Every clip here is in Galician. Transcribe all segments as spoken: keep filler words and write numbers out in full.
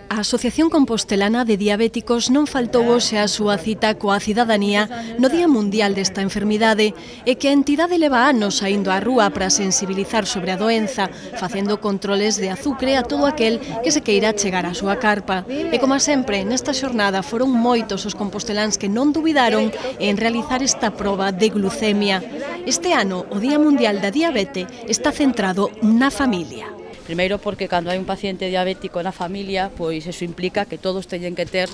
A Asociación Compostelana de Diabéticos non faltou hoxe a súa cita coa cidadanía no Día Mundial desta enfermidade e que a entidade leva anos saindo á rúa para sensibilizar sobre a doenza, facendo controles de azucre a todo aquel que se queira chegar á súa carpa. E como sempre, nesta xornada foron moitos os composteláns que non dubidaron en realizar esta proba de glucemia. Este ano, o Día Mundial da Diabete está centrado na familia. Primeiro porque cando hai un paciente diabético na familia, pois eso implica que todos teñen que ter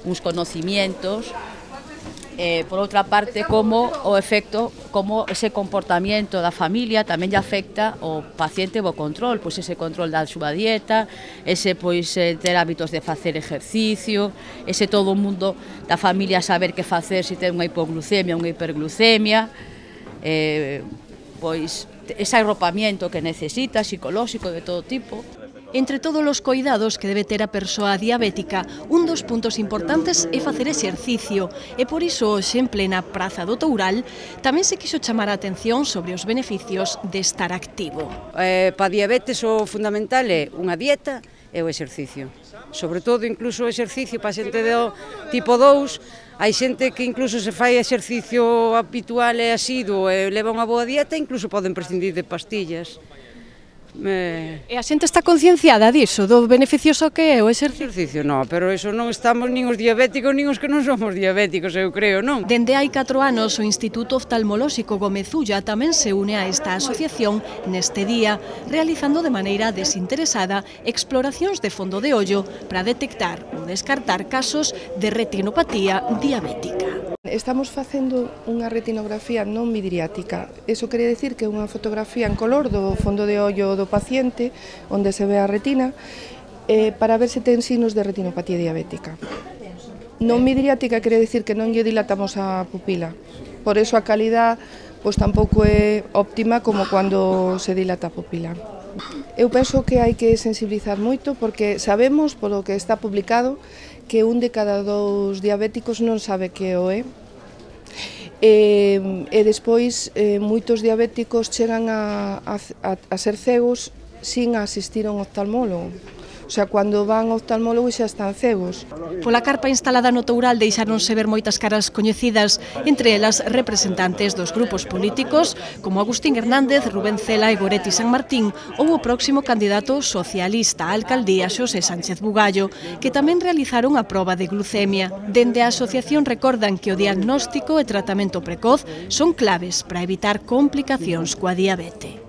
uns conocimientos, eh, por outra parte, como o efecto, como ese comportamento da familia tamén lle afecta ao paciente o control, pois ese control da súa dieta, ese pois ter hábitos de facer exercicio, ese todo o mundo da familia saber que facer se ten unha hipoglucemia, unha hiperglucemia, eh, pois ese arropamiento que necesita, psicolóxico de todo tipo. Entre todos os cuidados que debe ter a persoa diabética, un dos puntos importantes é facer exercicio e por iso hoxe en plena Praza do Toural tamén se quixo chamar a atención sobre os beneficios de estar activo. Eh, para a diabetes o fundamental é unha dieta e o exercicio. Sobre todo, incluso o exercicio para a xente do tipo dous, hai xente que incluso se fai exercicio habitual e asiduo e leva unha boa dieta e incluso poden prescindir de pastillas. Eh... E a xente está concienciada diso, do beneficioso que é o exercicio? Exercicio non, pero eso non estamos nin os diabéticos nin os que non somos diabéticos, eu creo, non? Dende hai catro anos o Instituto Oftalmolóxico Gómez Ulla tamén se une a esta asociación neste día, realizando de maneira desinteresada exploracións de fondo de ollo para detectar ou descartar casos de retinopatía diabética. Estamos facendo unha retinografía non midriática. Iso quere dicir que é unha fotografía en color do fondo de ollo do paciente, onde se ve a retina, eh, para ver se ten signos de retinopatía diabética. Non midriática quere dicir que non lle dilatamos a pupila. Por iso a calidad pois, tampouco é óptima como cando se dilata a pupila. Eu penso que hai que sensibilizar moito porque sabemos, polo que está publicado, que un de cada dous diabéticos non sabe que o é. E, e despois, eh, moitos diabéticos chegan a, a, a ser cegos sin asistir a un oftalmólogo. O sea, cando van ao oftalmólogo xa están cegos. Pola carpa instalada no Toural deixáronse ver moitas caras coñecidas, entre elas representantes dos grupos políticos como Agustín Hernández, Rubén Cela e Goretti San Martín ou o próximo candidato socialista á alcaldía Xosé Sánchez Bugallo, que tamén realizaron a proba de glucemia. Dende a asociación recordan que o diagnóstico e tratamento precoz son claves para evitar complicacións coa diabete.